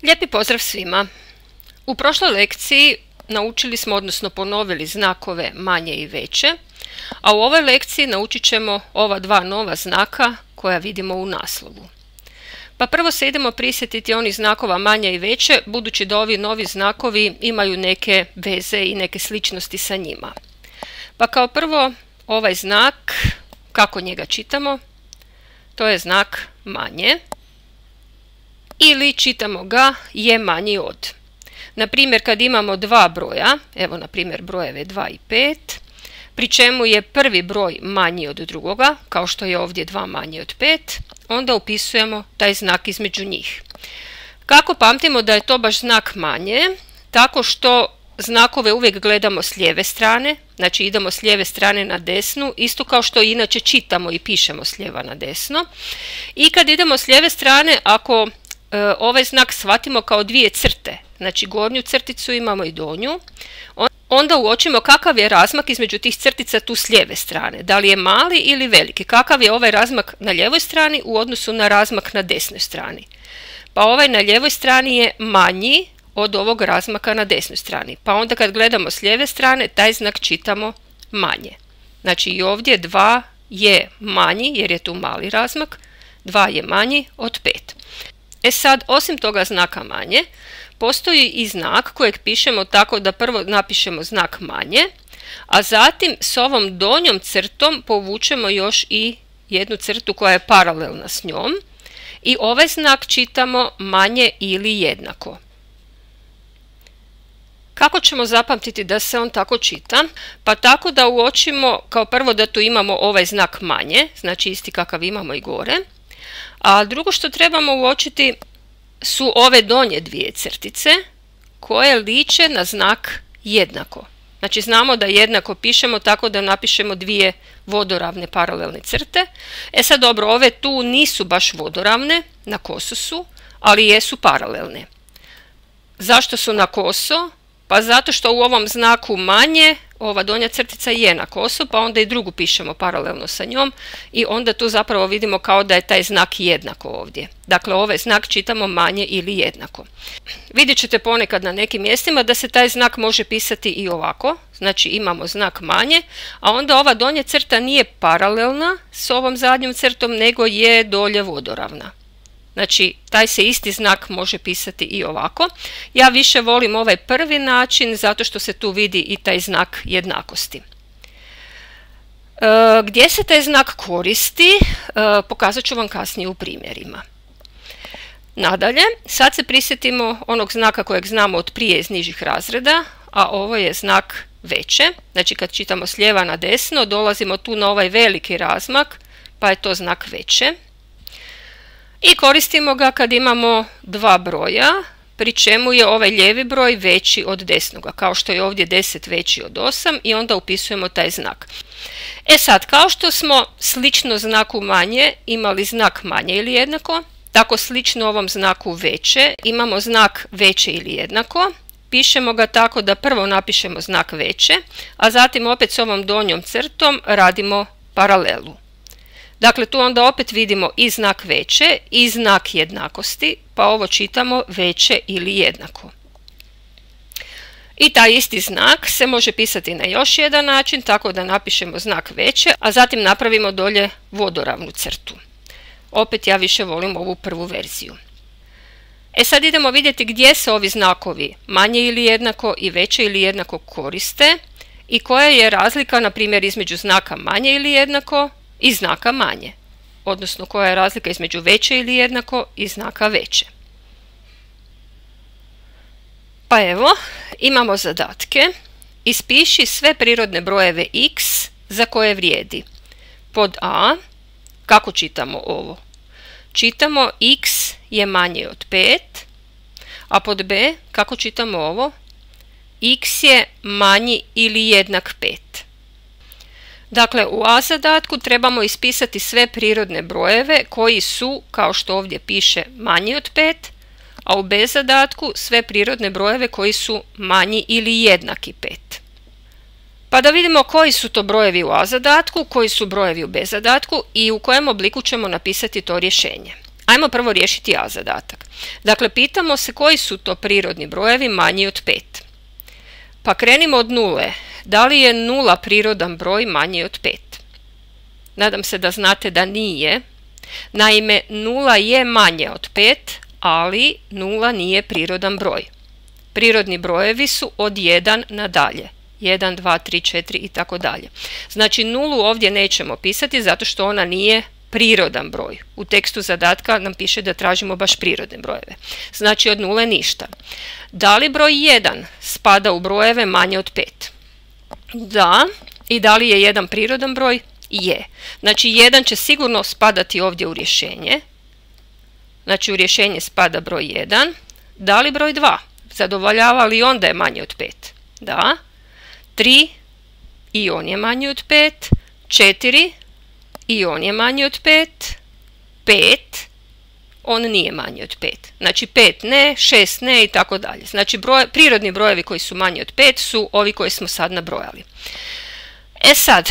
Lijepi pozdrav svima! U prošloj lekciji naučili smo, odnosno ponovili znakove manje i veće, a u ovoj lekciji naučit ćemo ova dva nova znaka koja vidimo u naslovu. Pa prvo se idemo prisjetiti onih znakova manje i veće, budući da ovi novi znakovi imaju neke veze i neke sličnosti sa njima. Pa kao prvo ovaj znak, kako njega čitamo, to je znak manje. Ili čitamo ga je manji od. Na primjer, kad imamo dva broja, evo na primjer brojeve 2 i 5, pri čemu je prvi broj manji od drugoga, kao što je ovdje 2 manje od 5, onda upisujemo taj znak između njih. Kako pamtimo da je to baš znak manje? Tako što znakove uvijek gledamo s lijeve strane, znači idemo s lijeve strane na desnu, isto kao što inače čitamo i pišemo s lijeva na desno. I kad idemo s lijeve strane, ako ovaj znak shvatimo kao dvije crte, znači gornju crticu imamo i donju, onda uočimo kakav je razmak između tih crtica tu s lijeve strane, da li je mali ili veliki, kakav je ovaj razmak na lijevoj strani u odnosu na razmak na desnoj strani. Pa ovaj na lijevoj strani je manji od ovog razmaka na desnoj strani, pa onda kad gledamo s lijeve strane taj znak čitamo manje. Znači i ovdje 2 je manji jer je tu mali razmak, 2 je manji od 5. E sad, osim toga znaka manje, postoji i znak kojeg pišemo tako da prvo napišemo znak manje, a zatim s ovom donjom crtom povučemo još i jednu crtu koja je paralelna s njom i ovaj znak čitamo manje ili jednako. Kako ćemo zapamtiti da se on tako čita? Pa tako da uočimo kao prvo da tu imamo ovaj znak manje, znači isti kakav imamo i gore. A drugo što trebamo uočiti su ove donje dvije crtice koje liče na znak jednako. Znači znamo da jednako pišemo tako da napišemo dvije vodoravne paralelne crte. E sad dobro, ove tu nisu baš vodoravne, na koso su, ali jesu paralelne. Zašto su na koso? Pa zato što u ovom znaku manje ova donja crtica je na koso, pa onda i drugu pišemo paralelno sa njom i onda tu zapravo vidimo kao da je taj znak jednako ovdje. Dakle, ovaj znak čitamo manje ili jednako. Vidjet ćete ponekad na nekim mjestima da se taj znak može pisati i ovako, znači imamo znak manje, a onda ova donja crta nije paralelna s ovom zadnjom crtom, nego je dolje vodoravna. Znači, taj se isti znak može pisati i ovako. Ja više volim ovaj prvi način zato što se tu vidi i taj znak jednakosti. Gdje se taj znak koristi, pokazat ću vam kasnije u primjerima. Nadalje, sad se prisjetimo onog znaka kojeg znamo od prije iz nižih razreda, a ovo je znak veće. Znači, kad čitamo s lijeva na desno, dolazimo tu na ovaj veliki razmak, pa je to znak veće. I koristimo ga kad imamo dva broja, pri čemu je ovaj lijevi broj veći od desnoga, kao što je ovdje 10 veći od 8 i onda upisujemo taj znak. E sad, kao što smo slično znaku manje imali znak manje ili jednako, tako slično ovom znaku veće imamo znak veće ili jednako. Pišemo ga tako da prvo napišemo znak veće, a zatim opet s ovom donjom crtom radimo paralelu. Dakle, tu onda opet vidimo i znak veće i znak jednakosti, pa ovo čitamo veće ili jednako. I taj isti znak se može pisati na još jedan način, tako da napišemo znak veće, a zatim napravimo dolje vodoravnu crtu. Opet ja više volim ovu prvu verziju. E sad idemo vidjeti gdje se ovi znakovi manje ili jednako i veće ili jednako koriste i koja je razlika, na primjer, između znaka manje ili jednako i znaka manje, odnosno koja je razlika između veće ili jednako i znaka veće. Pa evo, imamo zadatke. Ispiši sve prirodne brojeve x za koje vrijedi. Pod A, kako čitamo ovo? Čitamo x je manje od 5, a pod B, kako čitamo ovo? X je manji ili jednak 5. Dakle, u A zadatku trebamo ispisati sve prirodne brojeve koji su, kao što ovdje piše, manji od 5, a u B zadatku sve prirodne brojeve koji su manji ili jednaki 5. Pa da vidimo koji su to brojevi u A zadatku, koji su brojevi u B zadatku i u kojem obliku ćemo napisati to rješenje. Ajmo prvo riješiti A zadatak. Dakle, pitamo se koji su to prirodni brojevi manji od 5. Pa krenimo od nule. Da li je 0 prirodan broj manji od 5? Nadam se da znate da nije. Naime, 0 je manje od 5, ali 0 nije prirodan broj. Prirodni brojevi su od 1 nadalje. 1, 2, 3, 4 i tako dalje. Znači, nulu ovdje nećemo pisati zato što ona nije prirodan broj. U tekstu zadatka nam piše da tražimo baš prirodne brojeve. Znači, od nule ništa. Da li broj 1 spada u brojeve manje od 5? Da. I da li je 1 prirodan broj? Je. Znači, 1 će sigurno spadati ovdje u rješenje. Znači, u rješenje spada broj 1. Da li broj 2? Zadovoljava li on da je manje od 5? Da. 3 i on je manji od 5. 4 i on je manji od 5. 5 on nije manji od 5. Znači 5 ne, 6 ne i tako dalje. Znači prirodni brojevi koji su manji od 5 su ovi koji smo sad nabrojali. E sad,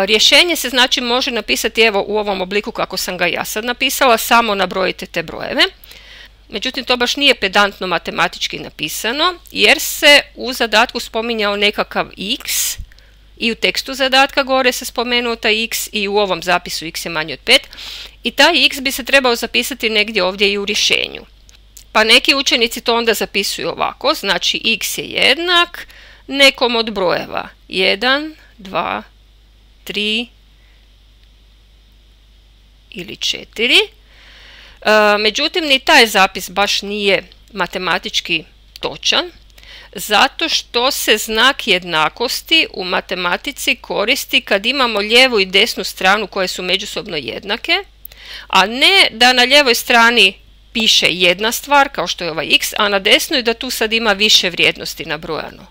rješenje se znači može napisati evo u ovom obliku kako sam ga ja sad napisala, samo nabrojite te brojeve. Međutim, to baš nije pedantno matematički napisano, jer se u zadatku spominjao nekakav x i u tekstu zadatka gore se spomenuo taj x i u ovom zapisu x je manji od 5 i taj x bi se trebao zapisati negdje ovdje i u rješenju. Pa neki učenici to onda zapisuju ovako, znači x je jednak nekom od brojeva 1, 2, 3 ili 4. Međutim, ni taj zapis baš nije matematički točan, zato što se znak jednakosti u matematici koristi kad imamo lijevu i desnu stranu koje su međusobno jednake, a ne da na lijevoj strani piše jedna stvar, kao što je ovaj x, a na desnoj da tu sad ima više vrijednosti nabrojano.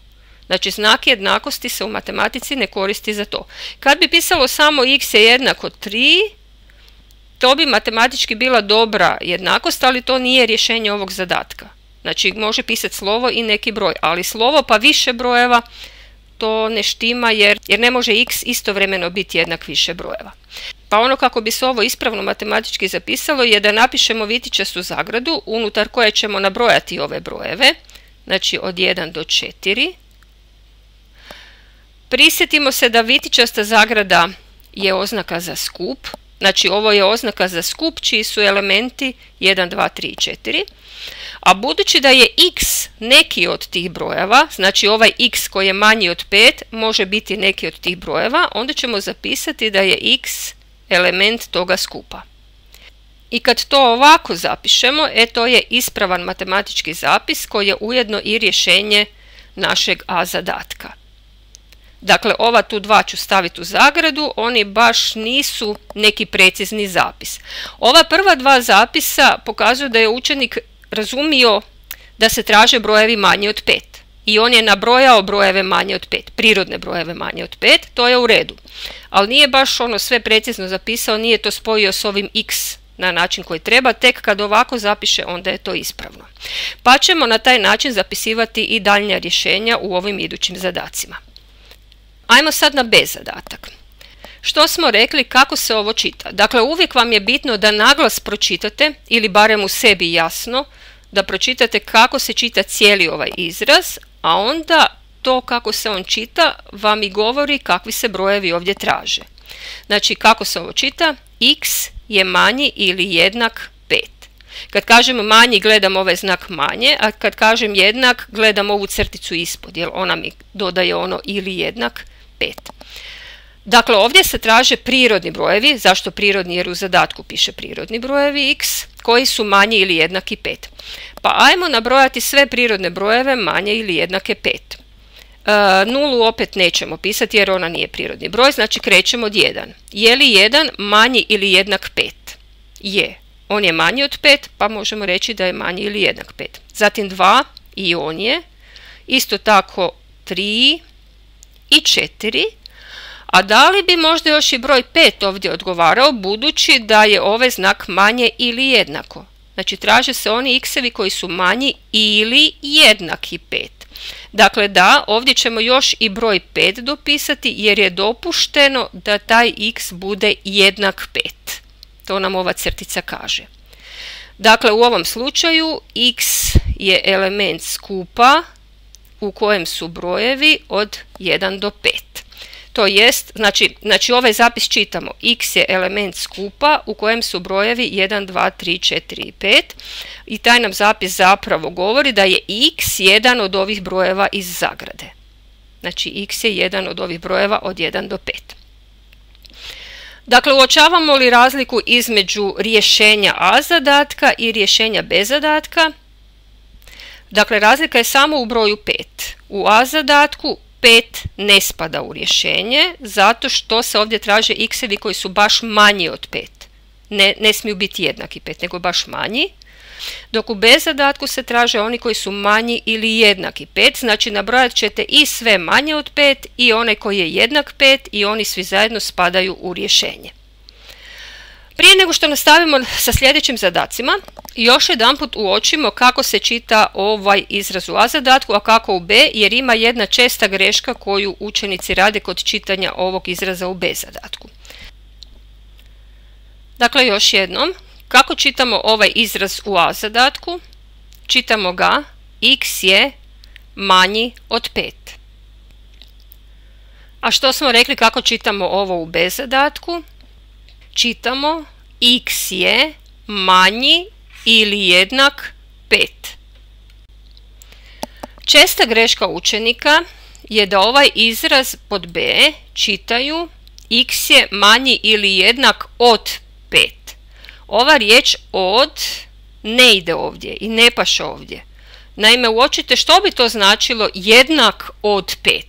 Znači, znak jednakosti se u matematici ne koristi za to. Kad bi pisalo samo x je jednako 3, to bi matematički bila dobra jednakost, ali to nije rješenje ovog zadatka. Znači, može pisati slovo i neki broj, ali slovo pa više brojeva, to ne štima jer ne može x istovremeno biti jednak više brojeva. Pa ono kako bi se ovo ispravno matematički zapisalo je da napišemo vitičastu zagradu unutar koje ćemo nabrojati ove brojeve, znači od 1 do 4. Prisjetimo se da vitičasta zagrada je oznaka za skup. Znači, ovo je oznaka za skup čiji su elementi 1, 2, 3 i 4. A budući da je x neki od tih brojeva, znači ovaj x koji je manji od 5 može biti neki od tih brojeva, onda ćemo zapisati da je x element toga skupa. I kad to ovako zapišemo, to je ispravan matematički zapis koji je ujedno i rješenje našeg A zadatka. Dakle, ova tu dva ću staviti u zagradu, oni baš nisu neki precizni zapis. Ova prva dva zapisa pokazuju da je učenik razumio da se traže brojevi manji od 5. I on je nabrojao brojeve manje od 5, prirodne brojeve manje od 5, to je u redu. Ali nije baš ono sve precizno zapisao, nije to spojio s ovim x na način koji treba, tek kad ovako zapiše onda je to ispravno. Pa ćemo na taj način zapisivati i daljnja rješenja u ovim idućim zadacima. Ajmo sad na B zadatak. Što smo rekli, kako se ovo čita? Dakle, uvijek vam je bitno da naglas pročitate, ili barem u sebi jasno, da pročitate kako se čita cijeli ovaj izraz, a onda to kako se on čita vam i govori kakvi se brojevi ovdje traže. Znači, kako se ovo čita? X je manji ili jednak 5. Kad kažem manji, gledam ovaj znak manje, a kad kažem jednak, gledam ovu crticu ispod, jer ona mi dodaje ono ili jednak 5. Dakle, ovdje se traže prirodni brojevi. Zašto prirodni? Jer u zadatku piše prirodni brojevi x koji su manji ili jednaki 5. Pa ajmo nabrojati sve prirodne brojeve manje ili jednake 5. Nulu opet nećemo pisati jer ona nije prirodni broj, znači krećemo od 1. Je li 1 manji ili jednak 5? Je. On je manji od 5, pa možemo reći da je manji ili jednak 5. Zatim 2 i on je. Isto tako 3 i 4. A da li bi možda još i broj 5 ovdje odgovarao, budući da je ovaj znak manje ili jednako? Znači, traže se oni x-evi koji su manji ili jednaki 5. Dakle, da, ovdje ćemo još i broj 5 dopisati, jer je dopušteno da taj x bude jednak 5. To nam ova crtica kaže. Dakle, u ovom slučaju x je element skupa u kojem su brojevi od 1 do 5. To jest, znači ovaj zapis čitamo, x je element skupa u kojem su brojevi 1, 2, 3, 4 i 5 i taj nam zapis zapravo govori da je x jedan od ovih brojeva iz zagrade. Znači x je jedan od ovih brojeva od 1 do 5. Dakle, uočavamo li razliku između rješenja A zadatka i rješenja B zadatka? Dakle, razlika je samo u broju 5. U A zadatku 5 ne spada u rješenje zato što se ovdje traže x-evi koji su baš manji od 5. Ne smiju biti jednaki 5, nego baš manji. Dok u B zadatku se traže oni koji su manji ili jednaki 5, znači nabrojat ćete i sve manje od 5 i onaj koji je jednak 5 i oni svi zajedno spadaju u rješenje. Prije nego što nastavimo sa sljedećim zadacima, još jedanput uočimo kako se čita ovaj izraz u A zadatku, a kako u B, jer ima jedna česta greška koju učenici rade kod čitanja ovog izraza u B zadatku. Dakle, još jednom, kako čitamo ovaj izraz u A zadatku? Čitamo ga x je manji od 5. A što smo rekli kako čitamo ovo u B zadatku? Čitamo x je manji ili jednak 5. Česta greška učenika je da ovaj izraz pod B čitaju x je manji ili jednak od 5. Ova riječ od ne ide ovdje i ne paše ovdje. Naime, uočite što bi to značilo jednak od 5.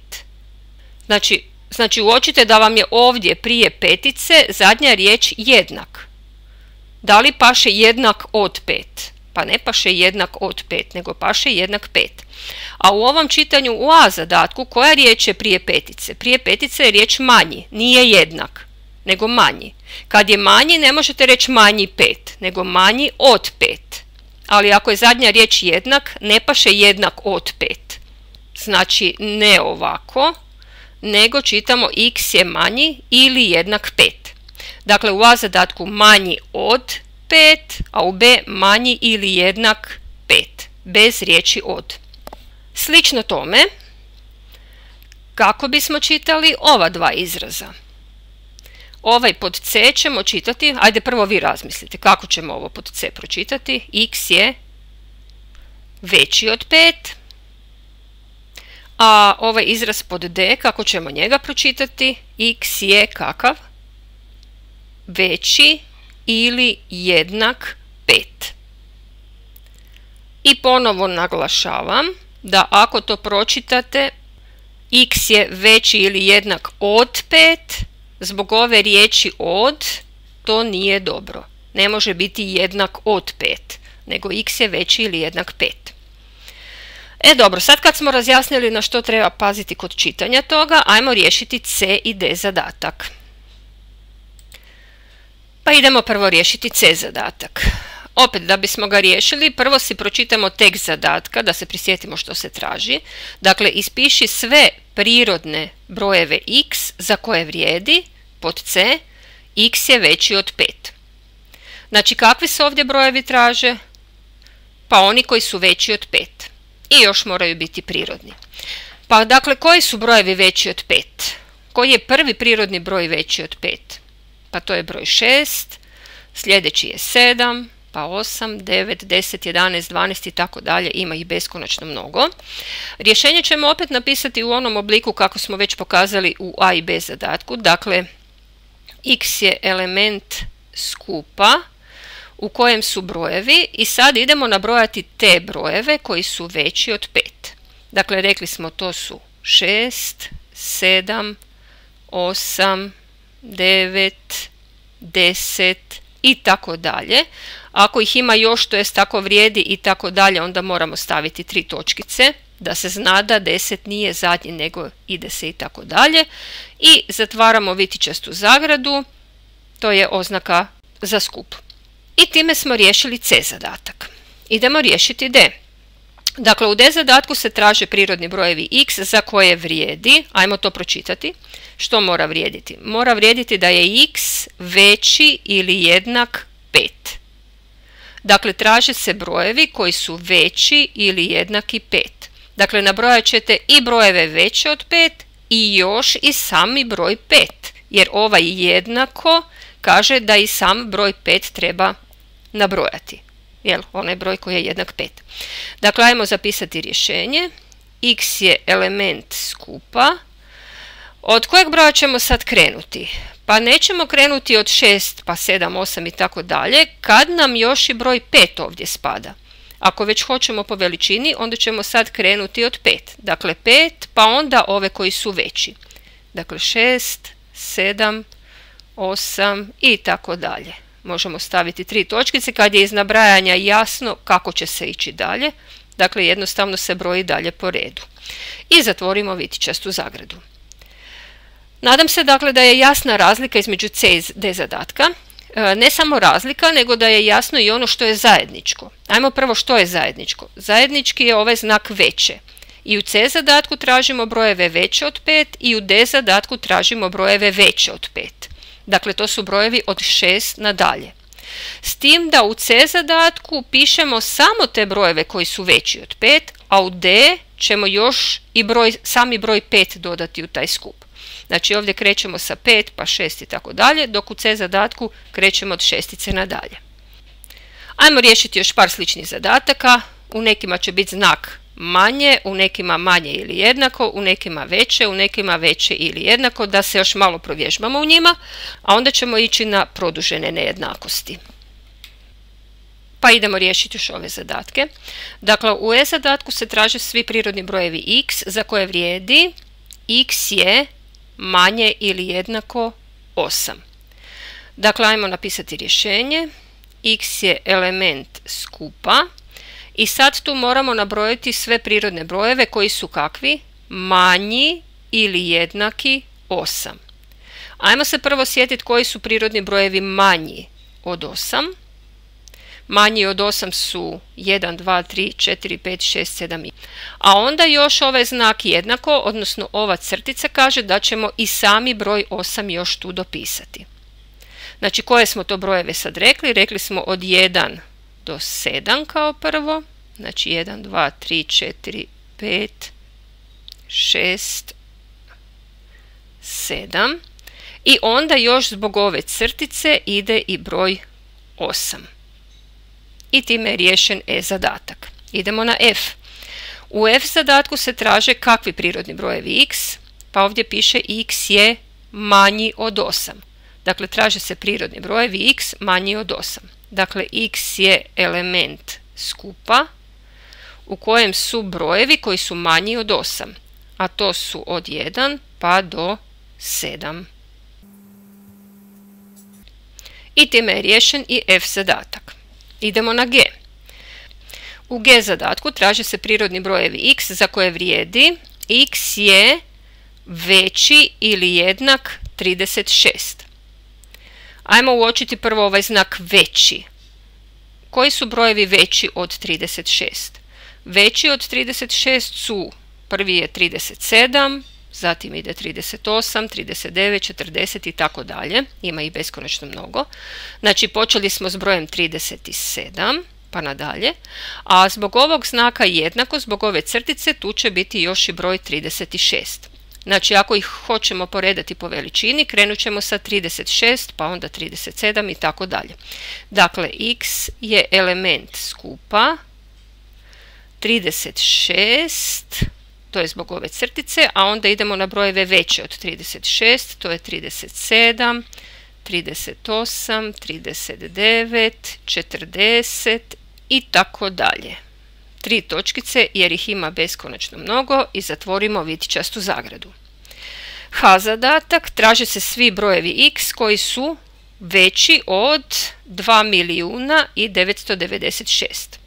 Znači uočite da vam je ovdje prije petice zadnja riječ jednak. Da li paše jednak od 5? Pa ne paše jednak od 5, nego paše jednak 5. A u ovom čitanju u A zadatku koja riječ je prije petice? Prije petice je riječ manji, nije jednak, nego manji. Kad je manji ne možete reći manji 5, nego manji od 5. Ali ako je zadnja riječ jednak, ne paše jednak od 5. Znači ne ovako, nego čitamo x je manji ili jednak 5. Dakle, u A zadatku manji od 5, a u B manji ili jednak 5, bez riječi od. Slično tome, kako bismo čitali ova dva izraza? Ovaj pod C ćemo čitati, ajde prvo vi razmislite kako ćemo ovo pod C pročitati. X je veći od 5. A ovaj izraz pod D, kako ćemo njega pročitati? X je kakav? Veći ili jednak 5. I ponovo naglašavam da ako to pročitate x je veći ili jednak od 5, zbog ove riječi od, to nije dobro. Ne može biti jednak od 5, nego x je veći ili jednak 5. Dobro, sad kad smo razjasnili na što treba paziti kod čitanja toga, ajmo riješiti C i D zadatak. Pa idemo prvo riješiti C zadatak. Opet, da bismo ga riješili, prvo si pročitamo tekst zadatka, da se prisjetimo što se traži. Dakle, ispiši sve prirodne brojeve x za koje vrijedi, pod C, x je veći od 5. Znači, kakvi se ovdje brojevi traže? Pa oni koji su veći od 5. I još moraju biti prirodni. Pa dakle, koji su brojevi veći od 5? Koji je prvi prirodni broj veći od 5? Pa to je broj 6, sljedeći je 7, pa 8, 9, 10, 11, 12 i tako dalje, ima ih beskonačno mnogo. Rješenje ćemo opet napisati u onom obliku kako smo već pokazali u A i B zadatku. Dakle, x je element skupa u kojem su brojevi i sad idemo nabrojati te brojeve koji su veći od 5. Dakle, rekli smo to su 6, 7, 8, 9, 10 i tako dalje. Ako ih ima još, to jest tako vrijedi i tako dalje, onda moramo staviti 3 točkice da se zna da 10 nije zadnji, nego ide se i tako dalje. I zatvaramo vitičastu zagradu, to je oznaka za skup. I time smo riješili C zadatak. Idemo riješiti D. Dakle, u D zadatku se traže prirodni brojevi x za koje vrijedi, ajmo to pročitati. Što mora vrijediti? Mora vrijediti da je x veći ili jednak 5. Dakle, traže se brojevi koji su veći ili jednaki 5. Dakle, nabrojat ćete i brojeve veće od 5 i još i sami broj 5. Jer ovaj jednako kaže da i sam broj 5 treba nabrojati. Jel, onaj broj koji je jednak 5. Dakle, ajmo zapisati rješenje. X je element skupa. Od kojeg broja ćemo sad krenuti? Pa nećemo krenuti od 6, pa 7, 8 i tako dalje, kad nam još i broj 5 ovdje spada. Ako već hoćemo po veličini, onda ćemo sad krenuti od 5. Dakle, 5, pa onda ove koji su veći. Dakle, 6, 7, 8 i tako dalje. Možemo staviti 3 točkice kad je iz nabrajanja jasno kako će se ići dalje. Dakle, jednostavno se broji dalje po redu. I zatvorimo vitičastu zagradu. Nadam se dakle da je jasna razlika između C i D zadatka. Ne samo razlika, nego da je jasno i ono što je zajedničko. Ajmo prvo što je zajedničko. Zajednički je ovaj znak veće. I u C zadatku tražimo brojeve veće od 5 i u D zadatku tražimo brojeve veće od 5. Dakle, to su brojevi od 6 nadalje. S tim da u C zadatku pišemo samo te brojeve koji su veći od 5, a u D ćemo još i sami broj 5 dodati u taj skup. Znači ovdje krećemo sa 5 pa 6 i tako dalje, dok u C zadatku krećemo od šestice nadalje. Ajmo riješiti još par sličnih zadataka. U nekima će biti znak manje, u nekima manje ili jednako, u nekima veće ili jednako, da se još malo provježbamo u njima, a onda ćemo ići na produžene nejednakosti. Pa idemo riješiti još ove zadatke. Dakle, u E zadatku se traže svi prirodni brojevi x za koje vrijedi x je manje ili jednako 8. Dakle, ajmo napisati rješenje. X je element skupa i sad tu moramo nabrojiti sve prirodne brojeve koji su kakvi? Manji ili jednaki 8. Ajmo se prvo sjetiti koji su prirodni brojevi manji od 8. Manji od 8 su 1, 2, 3, 4, 5, 6, 7. A onda još ovaj znak jednako, odnosno ova crtica kaže da ćemo i sami broj 8 još tu dopisati. Znači, koje smo to brojeve sad rekli? Rekli smo od 1 do 7 kao prvo. Znači 1, 2, 3, 4, 5, 6, 7. I onda još zbog ove crtice ide i broj 8. I time je riješen E zadatak. Idemo na F. U F zadatku se traže kakvi prirodni brojevi x, pa ovdje piše x je manji od 8. Dakle, traže se prirodni brojevi x manji od 8. Dakle, x je element skupa u kojem su brojevi koji su manji od 8, a to su od 1 pa do 7. I time je riješen i F zadatak. Idemo na G. U G zadatku traže se prirodni brojevi x za koje vrijedi x je veći ili jednak 36. Ajmo uočiti prvo ovaj znak veći. Koji su brojevi veći od 36? Veći od 36 su, prvi je 37, zatim ide 38, 39, 40 i tako dalje. Ima ih beskonačno mnogo. Znači, počeli smo s brojem 37, pa nadalje. A zbog ovog znaka jednako, zbog ove crtice, tu će biti još i broj 36. Znači, ako ih hoćemo poredati po veličini, krenut ćemo sa 36, pa onda 37 i tako dalje. Dakle, x je element skupa 36, to je zbog ove crtice, a onda idemo na brojeve veće od 36, to je 37, 38, 39, 40 i tako dalje. 3 točkice jer ih ima beskonačno mnogo i zatvorimo vitičastu zagradu. H zadatak, traže se svi brojevi x koji su veći od 2.996.000.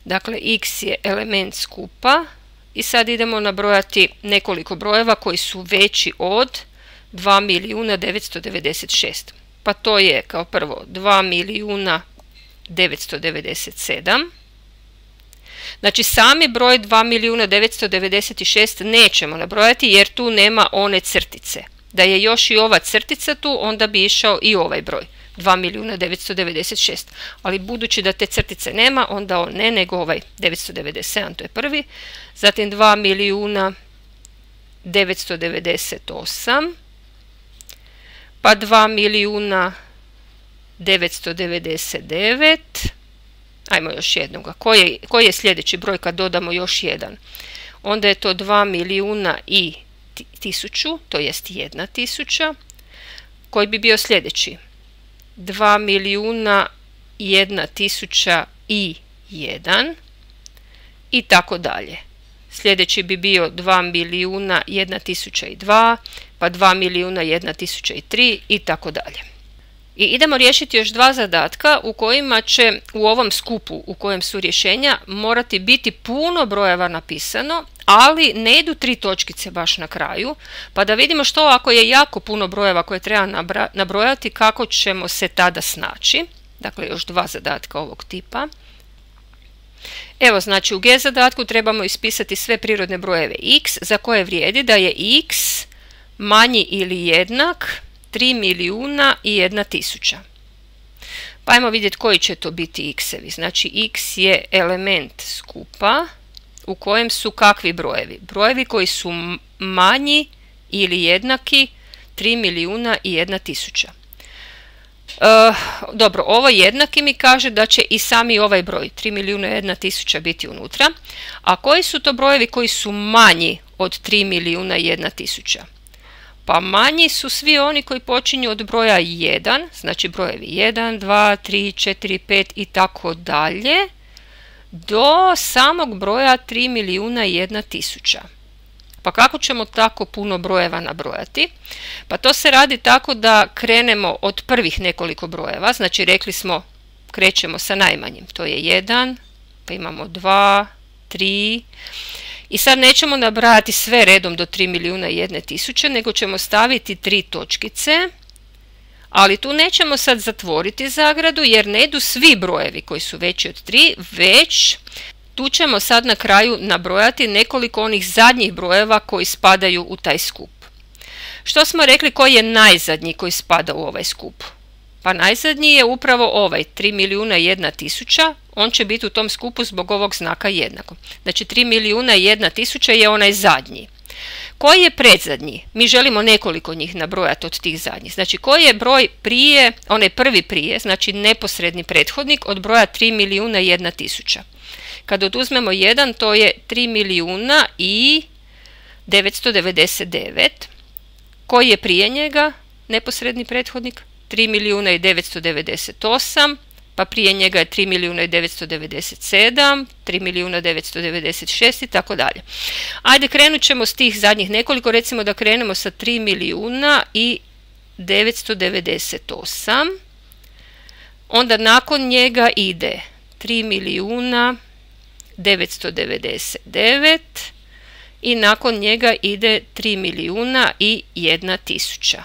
Dakle, x je element skupa i sad idemo nabrojati nekoliko brojeva koji su veći od 2.996.000. Pa to je kao prvo 2.997.000. Znači, sami broj 2.996.000 nećemo nabrojati jer tu nema one crtice. Da je još i ova crtica tu, onda bi išao i ovaj broj. 2.996.000. Ali budući da te crtice nema, onda on ne, nego ovaj 997, to je prvi. Zatim 2.998.000, pa 2.999.000. Ajmo još jednoga. Koji je sljedeći broj kad dodamo još jedan? Onda je to 2.100.000, to jest 1.000. Koji bi bio sljedeći? 2.101.001 i tako dalje. Sljedeći bi bio 2.101.002, pa 2.101.003 i tako dalje. I idemo riješiti još dva zadatka u kojima će u ovom skupu u kojem su rješenja morati biti puno brojeva napisano, ali ne idu 3 točkice baš na kraju, pa da vidimo što ako je jako puno brojeva koje treba nabrojati, kako ćemo se tada snaći. Dakle, još dva zadatka ovog tipa. Evo, znači u G zadatku trebamo ispisati sve prirodne brojeve x za koje vrijedi da je x manji ili jednak 3.001.000. Pa ajmo vidjeti koji će to biti x-evi. Znači x je element skupa u kojem su kakvi brojevi? Brojevi koji su manji ili jednaki 3.001.000. Dobro, ovo jednaki mi kaže da će i sami ovaj broj 3.001.000 biti unutra. A koji su to brojevi koji su manji od 3.001.000? Pa manji su svi oni koji počinju od broja 1, znači brojevi 1, 2, 3, 4, 5 i tako dalje, do samog broja 3.001.000. Pa kako ćemo tako puno brojeva nabrojati? Pa to se radi tako da krenemo od prvih nekoliko brojeva, znači rekli smo krećemo sa najmanjim, to je 1, pa imamo 2, 3, i sad nećemo nabrajati sve redom do 3.001.000, nego ćemo staviti 3 točkice, ali tu nećemo sad zatvoriti zagradu jer ne idu svi brojevi koji su veći od 3, već tu ćemo sad na kraju nabrojati nekoliko onih zadnjih brojeva koji spadaju u taj skup. Što smo rekli koji je najzadnji koji spada u ovaj skup? Pa najzadnji je upravo ovaj 3.001.000, on će biti u tom skupu zbog ovog znaka jednako. Znači 3.001.000 je onaj zadnji. Koji je predzadnji? Mi želimo nekoliko njih nabrojati od tih zadnjih. Znači koji je broj prije, onaj prvi prije, znači neposredni prethodnik od broja 3.001.000. Kad oduzmemo 1, to je 3.999.000. Koji je prije njega neposredni prethodnik? 3.998.000, pa prije njega je 3.997.000, 3.996.000 i tako dalje. Ajde, krenut ćemo s tih zadnjih nekoliko, recimo da krenemo sa 3.998.000, onda nakon njega ide 3.999.000 i nakon njega ide 3.001.000.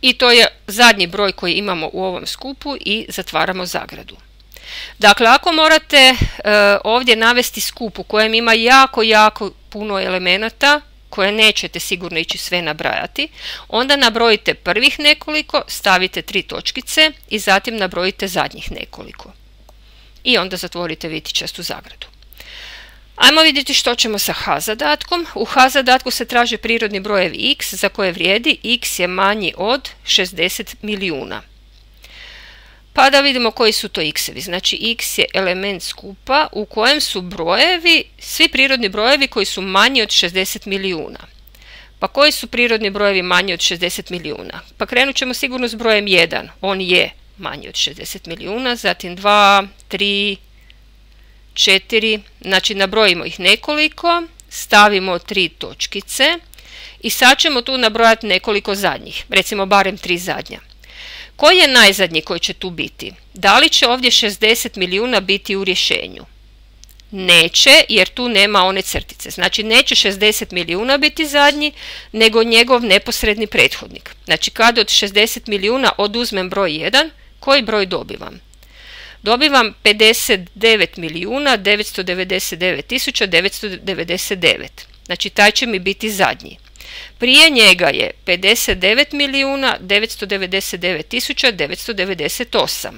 I to je zadnji broj koji imamo u ovom skupu i zatvaramo zagradu. Dakle, ako morate ovdje navesti skup u kojem ima jako puno elemenata koje nećete sigurno ići sve nabrajati, onda nabrojite prvih nekoliko, stavite 3 točkice i zatim nabrojite zadnjih nekoliko. I onda zatvorite vitičastu zagradu. Ajmo vidjeti što ćemo sa H zadatkom. U H zadatku se traže prirodni brojevi x za koje vrijedi x je manji od 60 milijuna. Pa da vidimo koji su to x-evi. Znači x je element skupa u kojem su brojevi, svi prirodni brojevi koji su manji od 60 milijuna. Pa koji su prirodni brojevi manji od 60 milijuna? Pa krenut ćemo sigurno s brojem 1. On je manji od 60 milijuna. Zatim 2, 3, 4, znači nabrojimo ih nekoliko, stavimo 3 točkice i sad ćemo tu nabrojati nekoliko zadnjih, recimo barem 3 zadnja. Koji je najzadnji koji će tu biti? Da li će ovdje 60 milijuna biti u rješenju? Neće, jer tu nema one crtice. Znači neće 60 milijuna biti zadnji, nego njegov neposredni prethodnik. Znači kad od 60 milijuna oduzmem broj 1, koji broj dobivam? Dobivam 59.999.999. Znači taj će mi biti zadnji. Prije njega je 59.999.998.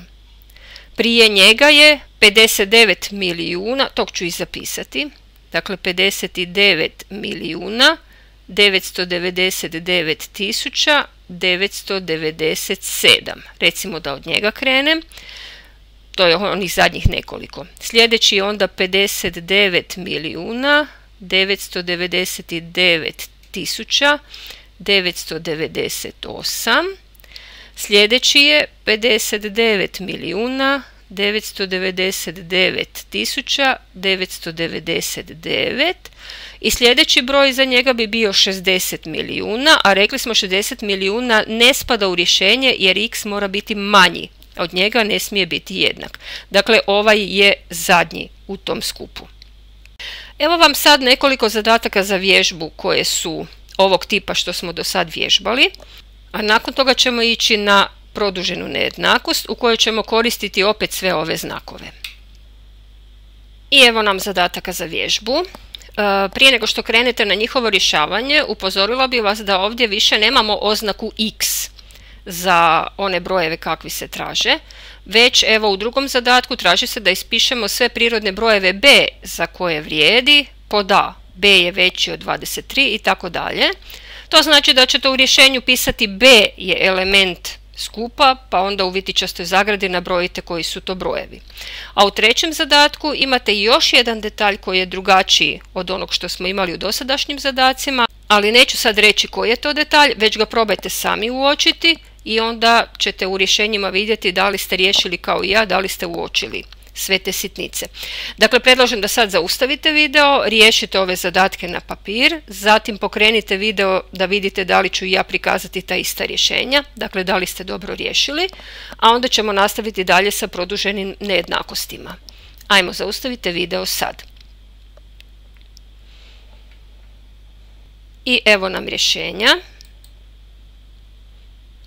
Prije njega je 59 milijuna, tog ću i zapisati, dakle 59.999.997. Recimo da od njega krenem. To je onih zadnjih nekoliko. Sljedeći je onda 59.999.998. Sljedeći je 59.999.999 i sljedeći broj za njega bi bio 60 milijuna, a rekli smo 60 milijuna ne spada u rješenje jer x mora biti manji. Od njega ne smije biti jednak. Dakle, ovaj je zadnji u tom skupu. Evo vam sad nekoliko zadataka za vježbu koje su ovog tipa što smo do sad vježbali, a nakon toga ćemo ići na produženu nejednakost u kojoj ćemo koristiti opet sve ove znakove. I evo nam zadataka za vježbu. Prije nego što krenete na njihovo rješavanje, upozorila bih vas da ovdje više nemamo oznaku x za one brojeve kakvi se traže, već evo u drugom zadatku traži se da ispišemo sve prirodne brojeve b za koje vrijedi pod a. b je veći od 23 i tako dalje. To znači da ćete u rješenju pisati b je element skupa, pa onda u vitičastoj zagradi nabrojite koji su to brojevi. A u trećem zadatku imate još jedan detalj koji je drugačiji od onog što smo imali u dosadašnjim zadacima, ali neću sad reći koji je to detalj, već ga probajte sami uočiti i onda ćete u rješenjima vidjeti da li ste riješili kao i ja, da li ste uočili sve te sitnice. Dakle, predlažem da sad zaustavite video, riješite ove zadatke na papir, zatim pokrenite video da vidite da li ću i ja prikazati ta ista rješenja, dakle da li ste dobro riješili, a onda ćemo nastaviti dalje sa produženim nejednakostima. Ajmo, zaustavite video sad. I evo nam rješenja.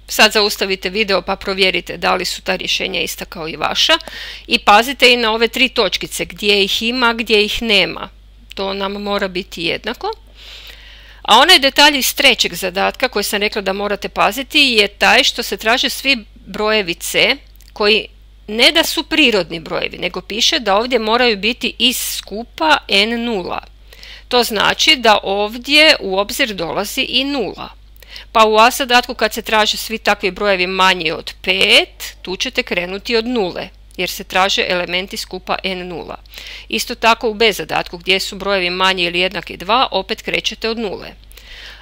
Sad zaustavite video pa provjerite da li su ta rješenja ista kao i vaša i pazite i na ove tri točkice gdje ih ima, gdje ih nema. To nam mora biti jednako. A onaj detalj iz trećeg zadatka koji sam rekla da morate paziti je taj što se traže svi brojevi c koji ne da su prirodni brojevi, nego piše da ovdje moraju biti iz skupa n0. To znači da ovdje u obzir dolazi i 0. Pa u a zadatku kad se traže svi takvi brojevi manji od 5, tu ćete krenuti od 0, jer se traže elementi skupa n0. Isto tako u b zadatku gdje su brojevi manji ili jednaki 2, opet krećete od 0.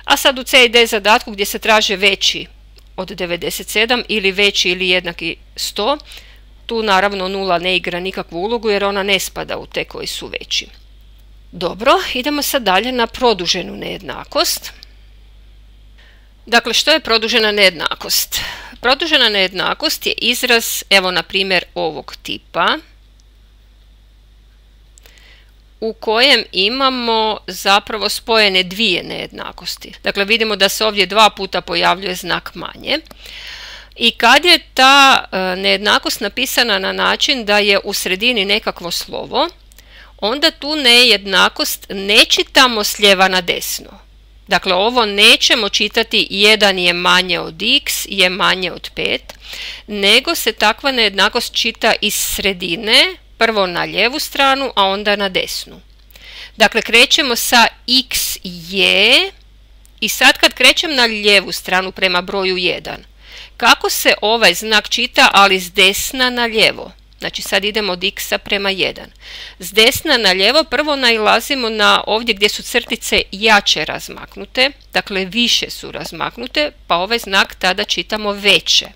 A sad u c i d zadatku gdje se traže veći od 97 ili veći ili jednaki 100, tu naravno 0 ne igra nikakvu ulogu jer ona ne spada u te koji su veći. Dobro, idemo sad dalje na produženu nejednakost. Dakle, što je produžena nejednakost? Produžena nejednakost je izraz, evo na primjer ovog tipa, u kojem imamo zapravo spojene dvije nejednakosti. Dakle, vidimo da se ovdje dva puta pojavljuje znak manje. I kad je ta nejednakost napisana na način da je u sredini nekakvo slovo, onda tu nejednakost ne čitamo s lijeva na desno. Dakle, ovo nećemo čitati 1 je manje od x je manje od 5, nego se takva nejednakost čita iz sredine, prvo na lijevu stranu, a onda na desnu. Dakle, krećemo sa x je i sad kad krećem na lijevu stranu prema broju 1, kako se ovaj znak čita, ali s desna na lijevo? Znači sad idemo od x prema 1. S desna na lijevo prvo nailazimo na ovdje gdje su crtice jače razmaknute, dakle više su razmaknute, pa ovaj znak tada čitamo veće.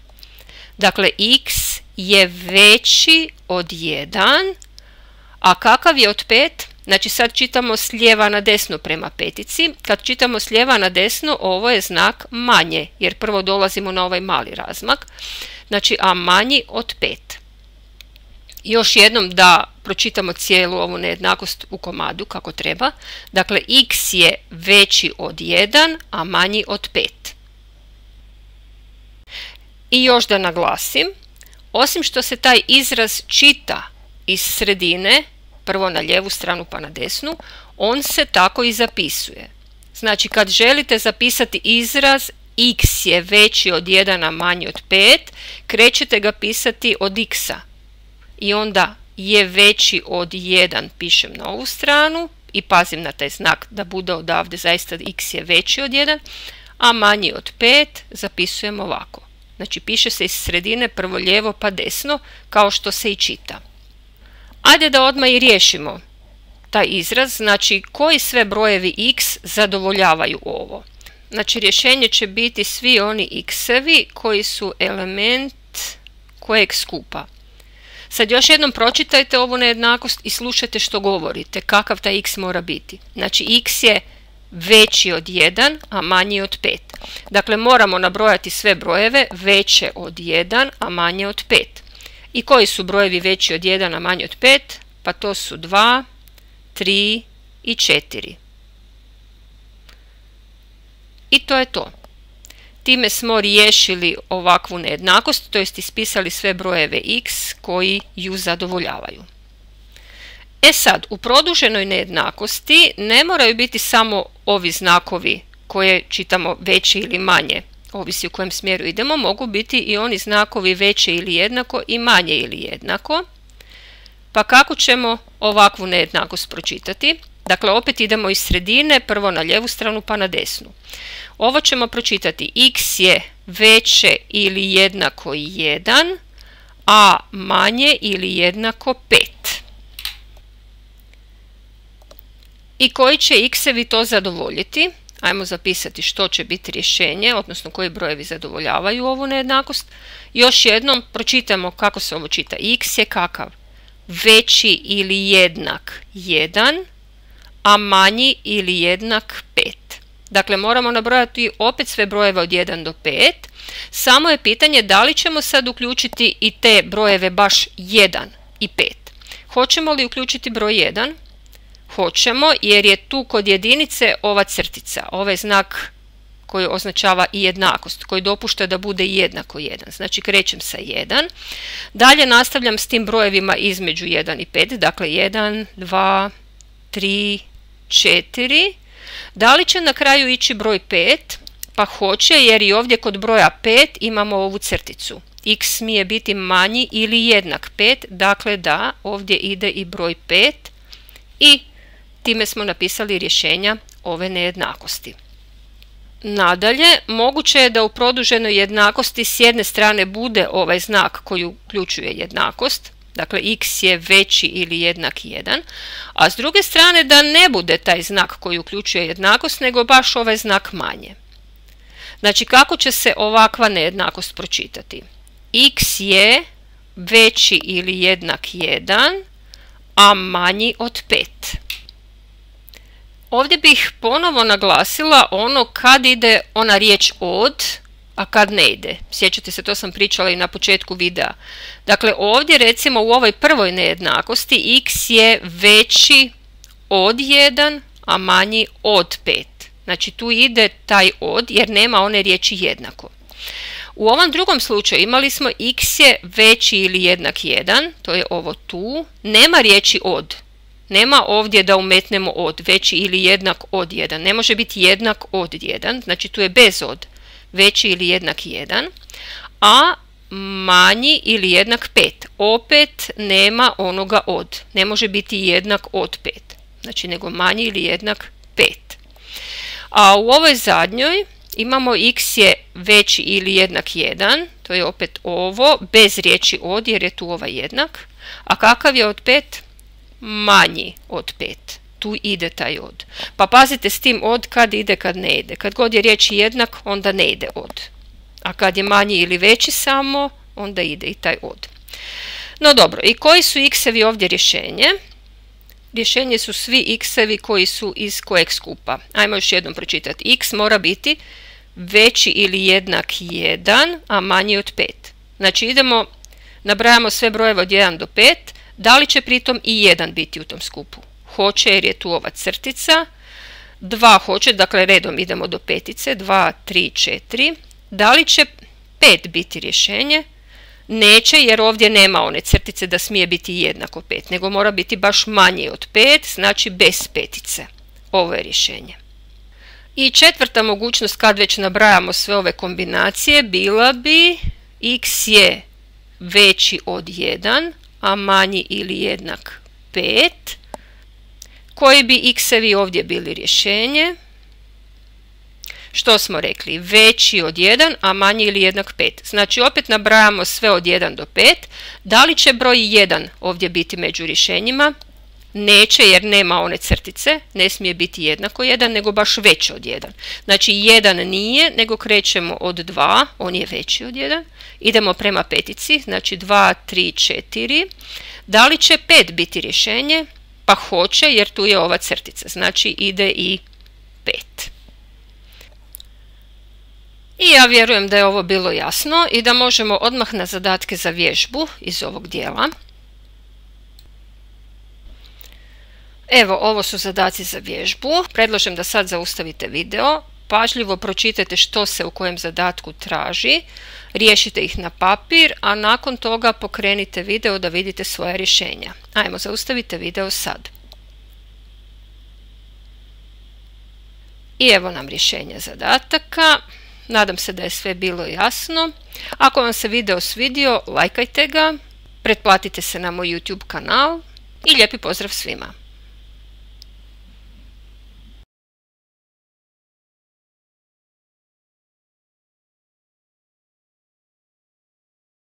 Dakle, x je veći od 1, a kakav je od 5? Znači sad čitamo s lijeva na desno prema petici. Kad čitamo s lijeva na desno, ovo je znak manje, jer prvo dolazimo na ovaj mali razmak. Znači, a manji od 5. Još jednom da pročitamo cijelu ovu nejednakost u komadu kako treba. Dakle, x je veći od 1, a manji od 5. I još da naglasim, osim što se taj izraz čita iz sredine, prvo na lijevu stranu pa na desnu, on se tako i zapisuje. Znači kad želite zapisati izraz x je veći od 1 a manji od 5, krećete ga pisati od x-a. I onda je veći od 1 pišem na ovu stranu i pazim na taj znak da bude odavde zaista x je veći od 1, a manji od 5 zapisujem ovako. Znači piše se iz sredine prvo lijevo pa desno kao što se i čita. Ajde da odmah i riješimo taj izraz, znači koji sve brojevi x zadovoljavaju ovo. Znači rješenje će biti svi oni x-evi koji su element kojeg skupa. Sad još jednom pročitajte ovu nejednakost i slušajte što govorite, kakav taj x mora biti. Znači x je veći od 1, a manji od 5. Dakle, moramo nabrojati sve brojeve veće od 1, a manje od 5. I koji su brojevi veći od 1, a manji od 5? Pa to su 2, 3 i 4. I to je to. Time smo riješili ovakvu nejednakost, to jest ispisali sve brojeve x koji ju zadovoljavaju. E sad, u produženoj nejednakosti ne moraju biti samo ovi znakovi koje čitamo veće ili manje, ovisi u kojem smjeru idemo, mogu biti i oni znakovi veće ili jednako i manje ili jednako. Pa kako ćemo ovakvu nejednakost pročitati? Dakle, opet idemo iz sredine, prvo na lijevu stranu pa na desnu. Ovo ćemo pročitati x je veće ili jednako 1, a manje ili jednako 5. I koji će x-evi to zadovoljiti? Ajmo zapisati što će biti rješenje, odnosno koji brojevi zadovoljavaju ovu nejednakost. Još jednom pročitamo kako se ovo čita. X je kakav? Veći ili jednak 1, a manji ili jednak 5. Dakle, moramo nabrojati opet sve brojeve od 1 do 5. Samo je pitanje da li ćemo sad uključiti i te brojeve baš 1 i 5. Hoćemo li uključiti broj 1? Hoćemo, jer je tu kod jedinice ova crtica, ovaj znak koji označava i jednakost, koji dopušta da bude jednako 1. Znači krećem sa 1. Dalje nastavljam s tim brojevima između 1 i 5, dakle 1, 2, 3, 4. Da li će na kraju ići broj 5? Pa hoće, jer i ovdje kod broja 5 imamo ovu crticu. X smije biti manji ili jednak 5, dakle da, ovdje ide i broj 5 i time smo napisali rješenja ove nejednakosti. Nadalje, moguće je da u produženoj jednakosti s jedne strane bude ovaj znak koji uključuje jednakost, dakle x je veći ili jednak 1, a s druge strane da ne bude taj znak koji uključuje jednakost, nego baš ovaj znak manje. Znači kako će se ovakva nejednakost pročitati? X je veći ili jednak 1, a manji od 5. Ovdje bih ponovo naglasila ono kad ide ona riječ od, a kad ne ide. Sjećate se, to sam pričala i na početku videa. Dakle, ovdje recimo u ovoj prvoj nejednakosti x je veći od 1, a manji od 5. Znači tu ide taj od jer nema one riječi jednako. U ovom drugom slučaju imali smo x je veći ili jednak 1, to je ovo tu, nema riječi od. Nema ovdje da umetnemo od, veći ili jednak od 1. Ne može biti jednak od 1, znači tu je bez od, veći ili jednak 1, a manji ili jednak 5. Opet nema onoga od, ne može biti jednak od 5, znači nego manji ili jednak 5. A u ovoj zadnjoj imamo x je veći ili jednak 1, to je opet ovo, bez riječi od jer je tu ovaj jednak. A kakav je od 5? Manji od 5. Tu ide taj od. Pa pazite s tim od kad ide, kad ne ide. Kad god je riječ jednak, onda ne ide od. A kad je manji ili veći samo, onda ide i taj od. No dobro, i koji su x-evi ovdje rješenje? Rješenje su svi x-evi koji su iz kojeg skupa. Ajmo još jednom pročitati. X mora biti veći ili jednak 1, a manji od 5. Znači idemo, nabrajamo sve brojeve od 1 do 5. Da li će pritom i 1 biti u tom skupu? Hoće jer je tu ova crtica. 2 hoće, dakle redom idemo do petice. 2, 3, 4. Da li će 5 biti rješenje? Neće jer ovdje nema one crtice da smije biti jednako 5, nego mora biti baš manji od 5, znači bez petice. Ovo je rješenje. I četvrta mogućnost, kad već nabrajamo sve ove kombinacije, bila bi x je veći od 1, a manji ili jednak 5. Koji bi x-evi ovdje bili rješenje? Što smo rekli? Veći od 1, a manji ili jednak 5. Znači opet nabrajamo sve od 1 do 5. Da li će broj 1 ovdje biti među rješenjima? Neće, jer nema one crtice, ne smije biti jednako 1, nego baš veći od 1. Znači 1 nije, nego krećemo od 2, on je veći od 1. Idemo prema petici, znači 2, 3, 4. Da li će 5 biti rješenje? Pa hoće, jer tu je ova crtica, znači ide i 5. I ja vjerujem da je ovo bilo jasno i da možemo odmah na zadatke za vježbu iz ovog dijela. Evo, ovo su zadaci za vježbu. Predlažem da sad zaustavite video, pažljivo pročitajte što se u kojem zadatku traži, riješite ih na papir, a nakon toga pokrenite video da vidite svoja rješenja. Ajmo, zaustavite video sad. I evo nam rješenja zadataka. Nadam se da je sve bilo jasno. Ako vam se video svidio, lajkajte ga, pretplatite se na moj YouTube kanal i lijepi pozdrav svima!